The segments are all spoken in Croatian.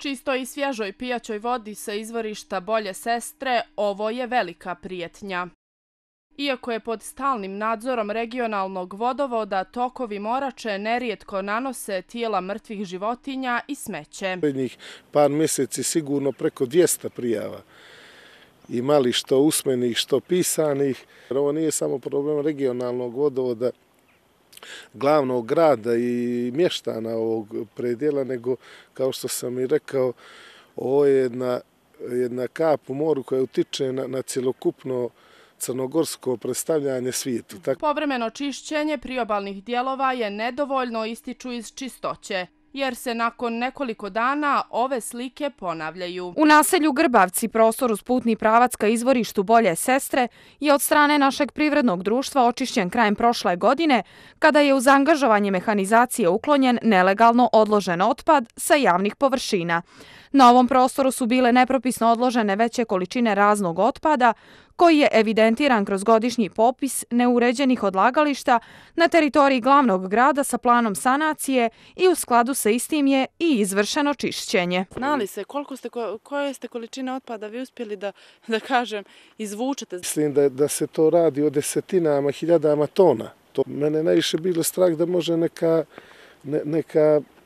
Čistoj i svježoj pijaćoj vodi sa izvorišta Bolje Sestre ovo je velika prijetnja. Iako je pod stalnim nadzorom regionalnog vodovoda, tokovi Morače nerijetko nanose tijela mrtvih životinja i smeće. Prednjih par mjeseci sigurno preko 200 prijava. Imali što usmenih, što pisanih. Ovo nije samo problem regionalnog vodovoda, glavnog grada i mještana ovog predjela, nego, kao što sam i rekao, ovo je jedna kap u moru koja utiče na cjelokupno crnogorsko predstavljanje svijetu. Povremeno čišćenje priobalnih dijelova je nedovoljno, ističu iz Čistoće, jer se nakon nekoliko dana ove slike ponavljaju. U naselju Grbavci prostor uz putni pravac ka izvorištu Bolje Sestre je od strane našeg privrednog društva očišćen krajem prošle godine, kada je uz angažovanje mehanizacije uklonjen nelegalno odložen otpad sa javnih površina. Na ovom prostoru su bile nepropisno odložene veće količine raznog otpada, koji je evidentiran kroz godišnji popis neuređenih odlagališta na teritoriji glavnog grada sa planom sanacije i u skladu sa istim je i izvršeno čišćenje. Znali se koje ste količine otpada vi uspjeli da kažem izvučete? Mislim da se to radi o desetinama, hiljadama tona. Mene najviše bilo strah da može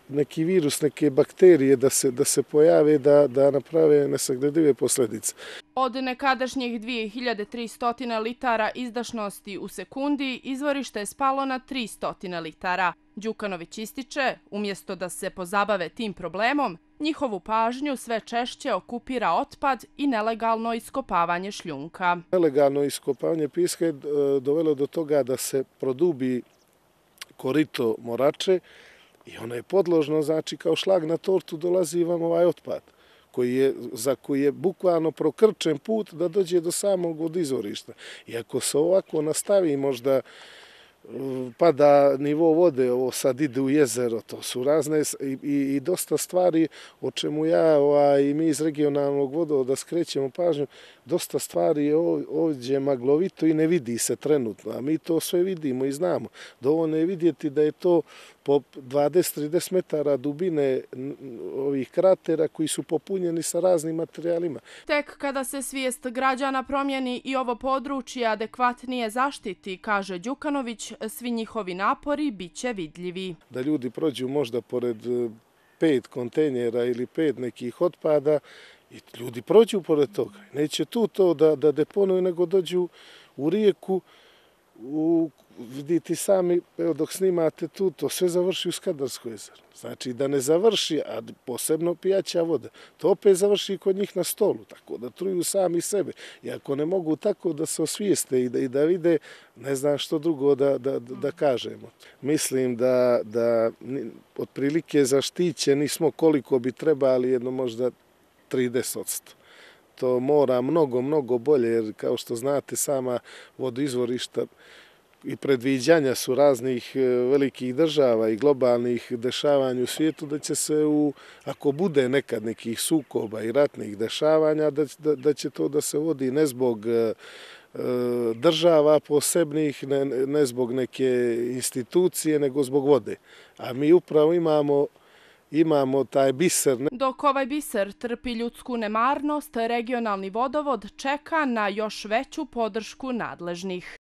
neki virus, neke bakterije da se pojave, da naprave nesagledive posljedice. Od nekadašnjih 2300 litara izdašnosti u sekundi, izvorište je spalo na 300 litara. Đukanović ističe, umjesto da se pozabave tim problemom, njihovu pažnju sve češće okupira otpad i nelegalno iskopavanje šljunka. Nelegalno iskopavanje pijeska je dovelo do toga da se produbi korito Morače, i ono je podložno, znači kao šlag na tortu dolazi vam ovaj otpad, za koji je bukvalno prokrčen put da dođe do samog izvorišta. I ako se ovako nastavi, možda pada nivo vode, ovo sad ide u jezero, to su razne i dosta stvari o čemu ja i mi iz regionalnog vodovoda skrećemo pažnju, dosta stvari je ovdje maglovito i ne vidi se trenutno, a mi to sve vidimo i znamo. Dovoljno je vidjeti da je to po 20-30 metara dubine ovih kratera koji su popunjeni sa raznim materijalima. Tek kada se svijest građana promijeni i ovo područje adekvatnije zaštiti, kaže Đukanović, svi njihovi napori bit će vidljivi. Da ljudi prođu možda pored 5 kontejnera ili 5 nekih otpada i ljudi prođu pored toga. Neće tu to da deponuju, nego dođu u rijeku, vidite sami, evo dok snimate tu, to sve završi u Skadarsko jezero. Znači da ne završi, a posebno pijaća voda, to opet završi kod njih na stolu, tako da truju sami sebe. I ako ne mogu tako da se osvijeste i da vide, ne znam što drugo da kažemo. Mislim da otprilike zaštićeni smo koliko bi trebali, jedno možda 30%. To mora mnogo bolje, jer kao što znate, sama vodoizvorišta i predviđanja su raznih velikih država i globalnih dešavanja u svijetu, da će se, ako bude nekad nekih sukoba i ratnih dešavanja, da će to da se vodi ne zbog država posebnih, ne zbog neke institucije, nego zbog vode. A mi upravo imamo taj biser. Dok ovaj biser trpi ljudsku nemarnost, regionalni vodovod čeka na još veću podršku nadležnih.